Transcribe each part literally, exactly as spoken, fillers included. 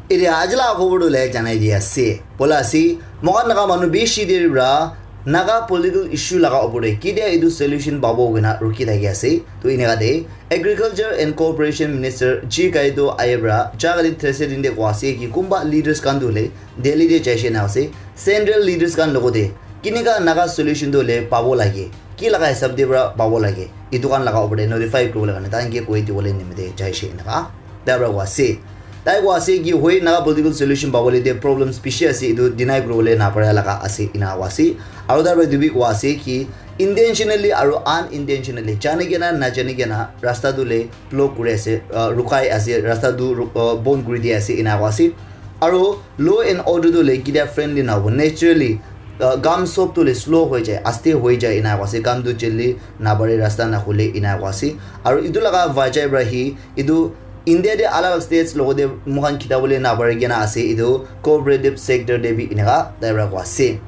Etiya aji laga khobor tu le janai di ase. Bola ase, moikhan Naga manu bishi deri pra Naga political issue laga opor te ketia etu solution pabo koina rukhi thaki ase. To eneka te Agriculture and Cooperation Minister G Kaido ahi pra jaga te threshe din te koa ase ki kunba leaders khan tu le Delhi te jaise na ase. Central leaders khan logote kineka Naga solution tu le pabo lage, ki laga hisab te pra pabo lage, etu khan laga opor te notify kuribole karne tai ke koi dibole nimite jaise eneka tai pra koa ase. Tai koa ase ki hoi Naga political solution pabole te problems bishi ase, etu deny kuribole napara laga ase ena koa ase. Aru tai pra etu bi koa ase ki intentionally aru unintentionally, jani kena najani kena rasta tu le block kuri ase, uh, rukai ase, rasta tu ru- uh, bon kuri di ase ena koa ase. Aru law and order tu le ketia friendly na hobo, naturally uh, kam sob tu le slow hoi jai, aste hoi jai ena koa ase. Kam tu jaldi napare, rasta na khule ena koa ase. Aru etu laga vajai pra hi etu India te alag alag states logote moikhan khita bole napare kena ase, etu cooperative sector te bi eneka tai pra koa ase.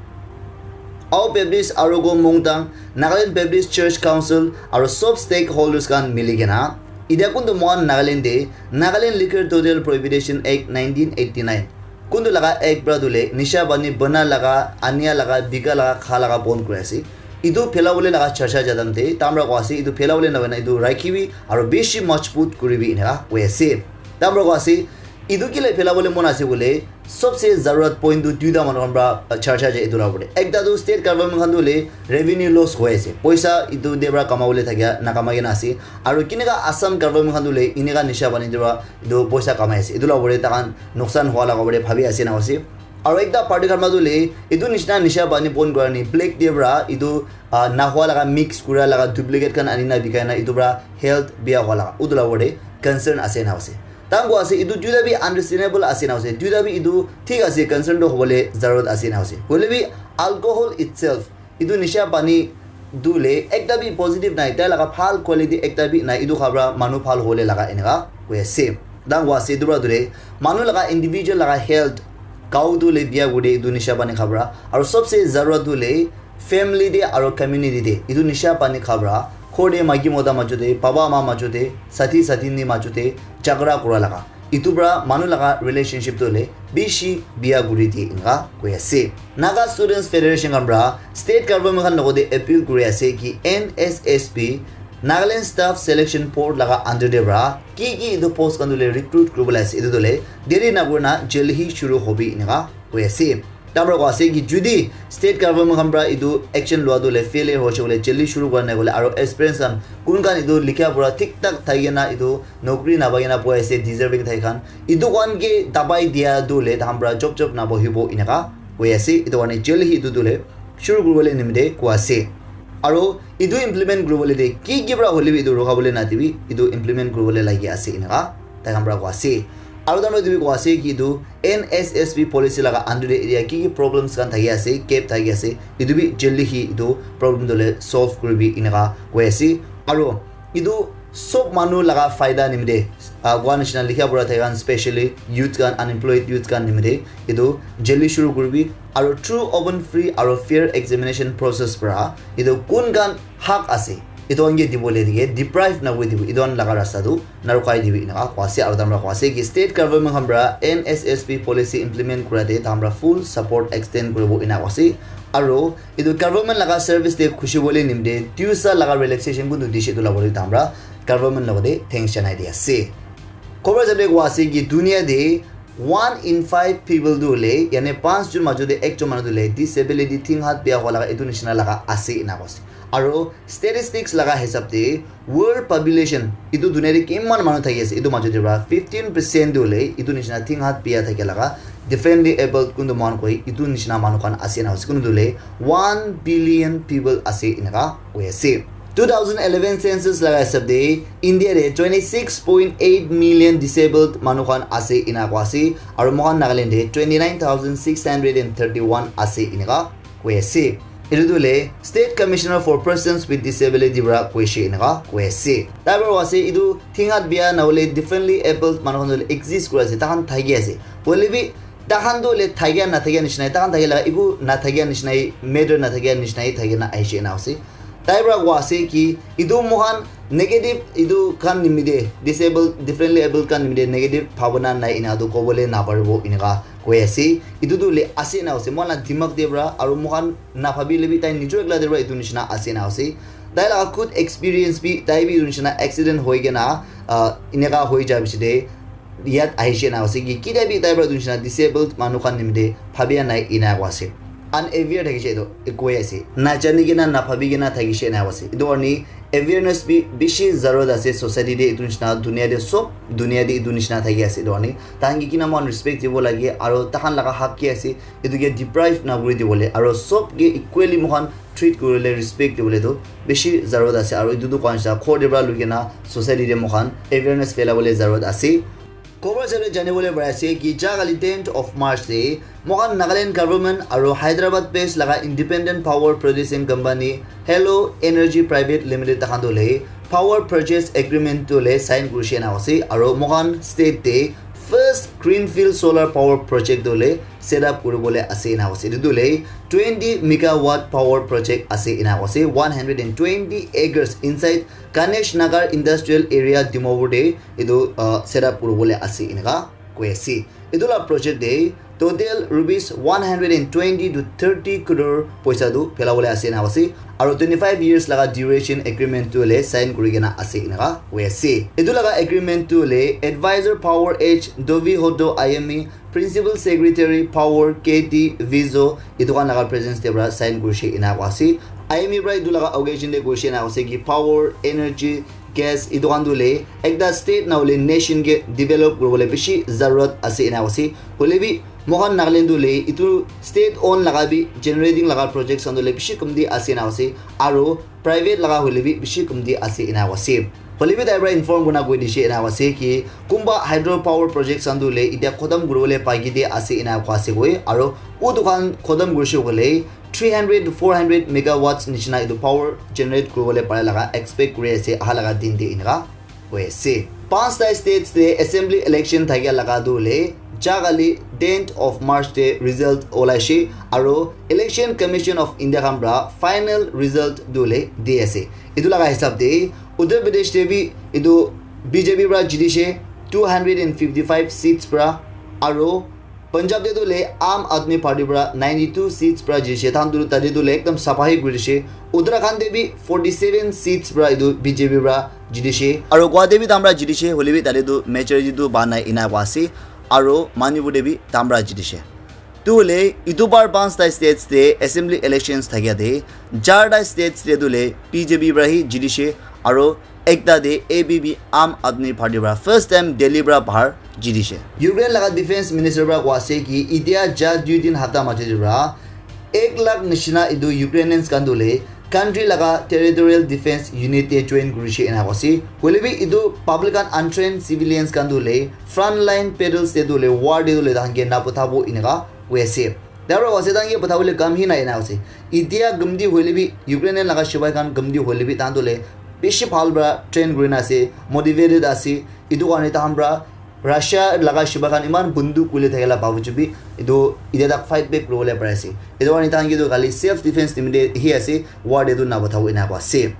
Ao Baptist Arogo Mungtang, Nagaland Baptist Church Council aru sob stakeholders khan mili kena etiya kuntu moikhan Nagaland te Nagaland Liquor Total Prohibition Act nineteen eighty nine kuntu laga act pra tu le nisha pani bana laga, ania laga, bika laga, kha laga bon kuri ase. Etu phelabole laga charcha jadam te tai pra koa ase, etu phelabole na hoina etu rakhibi aru bishi majbut kuribi eneka koi ase. Tai pra koa ase, etu kile phelabole mon ase koile, sobse zarurat point tu duita manu khan pra charcha jai etu la opor te. Ekta tu state government khan tu le revenue loss hoi ase, poisa etu te pra kamabole thakia nakamai kena ase. Aru kineka Assam government khan tu le eneka nisha pani te pra etu poisa kamai ase, etu la opor te tai khan nuksan hua laga opor te bhabi ase na ase. Aru ekta party khan pra tu le etu nishina nisha pani bon kura ni black te pra etu ah, nahua laga mix kura laga duplicate khan ani na bikai na etu pra health bia hua laga utu la opor te concern ase na ase. Tai khan koa ase etu duita bi understandable ase na ase, duita bi etu thik ase, concern tu hobole zarurat ase na ase. Hoile bi alcohol itself, etu nisha pani tu le ekta bi positive nai, tai laga bhal quality ekta bi nai, etu kha pra manu bhal hole laga eneka koi ase. Tai khan koa ase etu pra tu le manu laga individual laga health, gao tu le bia kuri de etu nisha pani kha pra. Aru sobse zarurat tu le family te aru community te etu nisha pani kha pra, ghor te maiki mota majo te, baba ama majo te, sathi sathini majo te jhagara kura laga, etu pra manu laga relationship tu le bishi bia kuri di eneka koi ase. Naga Students Federation khan pra state government khan logote appeal kuri ase ki N S S B, Nagaland Staff Selection Board laga under te pra ki ki etu post khan tu le recruit kuribole ase, etu tu le deri na kurina jaldi hi shuru hobi eneka koi ase. Tai pra koa ase ki jodi state government khan pra etu action lua tu le failure hoise koile, jaldi shuru kura nai koile, aru experience khan kun khan etu likha pura thik thak thaki kena etu nokri napai kena bohi ase, deserving thaki khan, etu khan ke dabai dia tu le tai khan pra job job nabohibo eneka koi ase. Etu karne jaldi hi etu tu le shuru kuribole nimite koa ase. Aru etu implement kuribole te ki ki pra hoile bi etu rukhabole nadibi, etu implement kuribole lagi ase eneka tai khan pra koa ase. Aru tai khan pra etu bi koa ase ki etu N S S B policy laga under te area ki ki problems khan thaki ase, gap thaki ase, etu bi jaldi hi etu problem tu le solve kuribi eneka koi ase. Aru etu sob manu laga faida nimite, ah, koa nishina likha pura thaki khan, specially youth khan, unemployed youth khan nimite etu jaldi shuru kuribi. Aru through open, free aru fair examination process pra etu kun khan hak ase, etu khan ke dibole dike, deprive na kuri dibi, etu khan laga rasta tu na rukhai dibi eneka koa ase. Aru tai pra koa ase ki state government khan pra N S S B policy implement kura te tai pra full support extend kuribo eneka koa ase. Aru etu government laga service te khushi bole nimite duisa laga relaxation kuntu dishe etu la bole tai pra government logote thanks janai di ase. Khobor jate koa ase ki dunia te one in five people tu le, yane panch jon majo te ekjon manu tu le disability, thing hat bia hua laga etu nishina laga ase eneka koa ase. Aru statistics laga hisab te world population, etu dunia te kiman manu thaki ase, etu majo te pra fifteen percent tu le etu nishina thing hat bia thaki laga differently abled kuntu manu koi, etu nishina manu khan ase na ase, kuntu le one billion people ase eneka koi ase. Two thousand eleven census laga hisab te India te twenty six point eight million disabled manu khan ase eneka koa ase, aru moikhan Nagaland te twenty nine thousand six hundred and thirty one ase eneka koi ase. Etu tu le State Commissioner for Persons with Disability pra koise eneka koi ase. Tai pra koa ase etu thing hat bia na hole differently abled manu khan tu le exist kuri ase, tai khan thaki ase. Hoile bi tai khan tu le thakia na thakia nishina, tai khan thakia laga eku na thakia nishina, matter na thakia nishina thaki na ahishe na ase. Tai pra koa ase ki etu moikhan Negative etu khan nimite, disabled, differently abled khan nimite negative bhabana nai ena tu kobole naparibo eneka koi ase. Etu tu le ase na ase, moikhan la dimag te pra aru moikhan naphabile bi tai nijor ekla te pra etu nishina ase na ase. Tai laga khud experience bi, tai bi etu nishina accident hoi kena, ah, eneka hoi ja bishi te yat ahishe na ase ki, kita bi tai pra etu nishina disabled manu khan nimite bhabia nai ena ko ase. Unaware thakishe etu ekoi ase. Najani kena, naphabi kena thakishe ena ko ase. Etu karne awareness bi bishi zarurat ase society te, etu nishina dunia te sob dunia te etu nishina thaki ase. Etu karne tahan ke kina moikhan respect dibo lage, aro tahan laga hak ki ase, etu ke deprive na kuri dibo le, aro sob ke equally moikhan treat kuri le, respect dibo le tu bishi zarurat ase. Aro etu tu koa nishina ghor te pra lui kena society te moikhan awareness phelabole zarurat ase. Khobor sare janibole pari ase ki ja kali tenth of March te moikhan Nagaland government aro Hyderabad based laga independent power producing company Hello Energy Private Limited tahan tu le power purchase agreement tu le sign kurishe na ase, aro moikhan state te first greenfield solar power project tu le set up kuribole ase na ase. Etu tu le twenty megawatt power project ase ena ase, one hundred and twenty acres inside Ganesh Nagar Industrial Area Dimapur te etu, uh, set up kuribole ase eneka koi ase. Etu la project te total rupees one hundred and twenty to thirty crore poisa tu phelabole ase ena ase, aro twenty five years laga duration agreement tu le sign kuri kena ase eneka koi ase. Etu laga agreement tu le advisor Power Edge Dovi Hodo I M E, Principal Secretary Power K T Vizo, etu khan laga presence te pra sign kurishe ena ko ase. I M E pra etu laga occasion te kurishe ena ase ki power, energy, gas etu khan tu le ekta state na hole nation ke develop kuribole bishi zarurat ase ena ase. Hole bi moikhan Nagaland tu le etu state owned laga bi generating laga projects khan tu le bishi kamti ase ena ase. Aro private laga hole bi bishi kamti ase ena ase. Hole bi tai pra inform kurina koi dishe ena ase ki kunba hydro power projects khan tu le etia khotom kuribole baki te ase ena ko ase koi, aro utu khan khotom kurishe koile three hundred to four hundred megawatts nishina etu power generate kuribole pare laga expect kuri ase aha laga din te eneka koi ase. Panchta states te assembly election thakia laga tu le ja kali tenth of March te result olaishe, aro Election Commission of India khan pra final result tu le di ase. Etu laga hisab te Uttar Pradesh te bi etu B J P pra jitishe two hundred and fifty five seats pra, aro Punjab te tu le Aam Aadmi Party pra ninety two seats pra jitishe. Tahan tu tate tu le ekdam sapha hi kuri dishe. Uttarakhand te bi forty seven seats pra etu B J P pra jitishe. Aro Goa te bi tahan pra jitishe. Hole bi tate tu majority tu pa nai ena koa ase. Aro Manipur te bi tahan pra jitishe. Tu le itu bar panchta states te assembly elections thakia te charta states te tu le B J P pra hi jitishe. Aro ekta te A P P Aam Aadmi Party pra first time Delhi pra bahar jitishe. Ukraine laga defense minister pra koa ase ki itia ja dui din hapta majo te pra ek lakh nishina etu Ukrainians khan tu le country laga territorial defense unit te join kurishe ena koa ase. Hole bi etu public and untrained civilians khan tu le front line battles te tu le war te tu le tahan ke na pathabo eneka koi ase. Tar pra ase tahan ke pathabole kam hi nai ena ase. Itia gumti hoile bi, Ukrainian laga sipai khan gumti hoile bi, tahan tu le bishi bhal pra train kurina ase, motivated ase. Etu karne tahan pra Russia laga sipai khan iman bunduk kule thakila babuju bi, etu itia tak fight back kuribole pari ase. Etu karne tahan ke tu khali self defense nimite hi ase, war te tu na pathabo ena koa ase.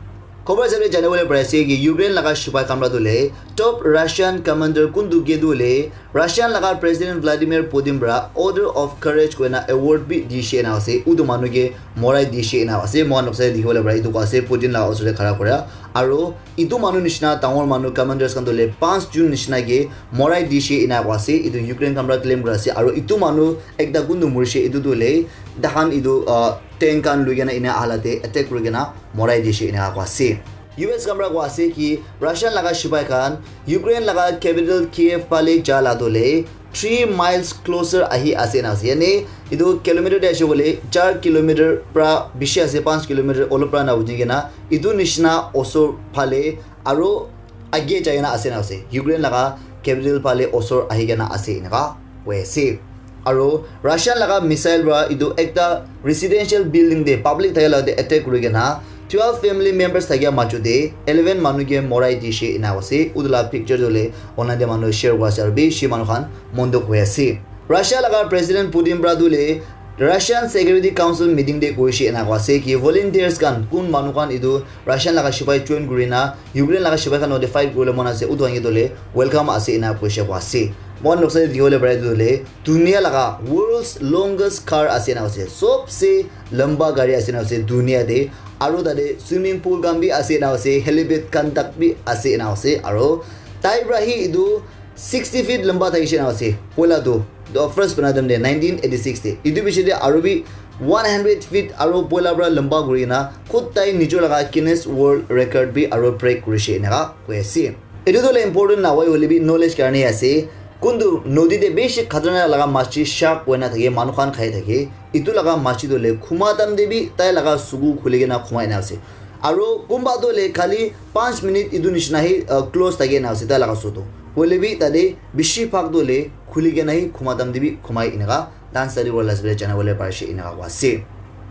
Khobor hisabe janibole pari ase ki Ukraine laga sipai khan pra tu le top Russian commander kuntu ke tu le Russian laga President Vladimir Putin pra Order of Courage koina award bi dishe na ase. Utu manu ke morai dishe na ase. Moikhan noksa te dikhi bole pare etu koa ase Putin laga osor te khara kura. Aro etu manu nishina dangor manu commanders khan tu le panch jun nishina ke morai dishe ena koa ase. Etu Ukraine khan pra claim kura ase. Aro etu manu ekta kuntu murishe etu tu le tahan etu, ah, tank khan lui kena ena ahala te attack kuri kena morai dishe ena koa ase. U S khan pra koa ase ki Russian laga sipai khan Ukraine laga capital Kiev phale ja la tu le three miles closer ahi ase na ase. Yane etu kilometer te ase koile char kilometer pra bishi ase, panch kilometer olop pra na buji kena etu nishina osor phale aro age jai kena ase na ase. Ukraine laga capital phale osor ahi kena ase eneka koi ase. Aro Russian laga missile pra etu ekta residential building te public thaka la te attack kuri kena twelve family members thakia majo te eleven manu ke morai dishe ena ase. Utu la picture tu le online te manu share kura ase aro bishi manu khan mon dukh hoi ase. Russia laga President Putin pra tu le Russian Security Council meeting te koishe ena koa ase ki volunteers khan, kun manu khan etu Russian laga sipai join kuri na Ukraine laga sipai khan logote fight kuribole mon ase, utu khan ke tole welcome ase ena koishe koa ase. Moi khan noksa te dikhi bole pare etu tole dunia laga world's longest car ase ena ase, sobse lamba gari ase ena ase dunia te. Aru tate swimming pool khan bi ase ena ase, helipad khan tak bi ase ena ase. Aru tai para hi etu sixty feet lamba thakishe ena ase. Poila tu, the first banai time te nineteen eighty-six te. Etu piche te aru bi one hundred feet aru poila para lamba kuri kena khud tai nijor laga Guinness World Record bi aru break kurishe eneka koi ase. Etu tu hoile important na hoi hoile bi knowledge karne ase. Kuntu nodi te bishi khatarnak laga machi shark koi na thake, manu khan khai thake. Etu laga machi tu hoile khuma time te bi tai laga suku khuli kena khumai na ase. Aru kunba tu hoile khali panch minute etu nishina hi, uh, close thake na ase tai laga suku. Hoile bi tate bishi bhag tu hoile khuli kena hi khuma time te bi khumai eneka. Dan study world as well channel wale parishe eneka koa ase.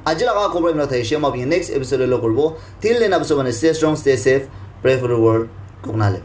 Aji laga khobor eneka thaishe, moi apni next episode te log koribo. Till then, apni sob mane stay strong, stay safe, pray for the world. Koknale.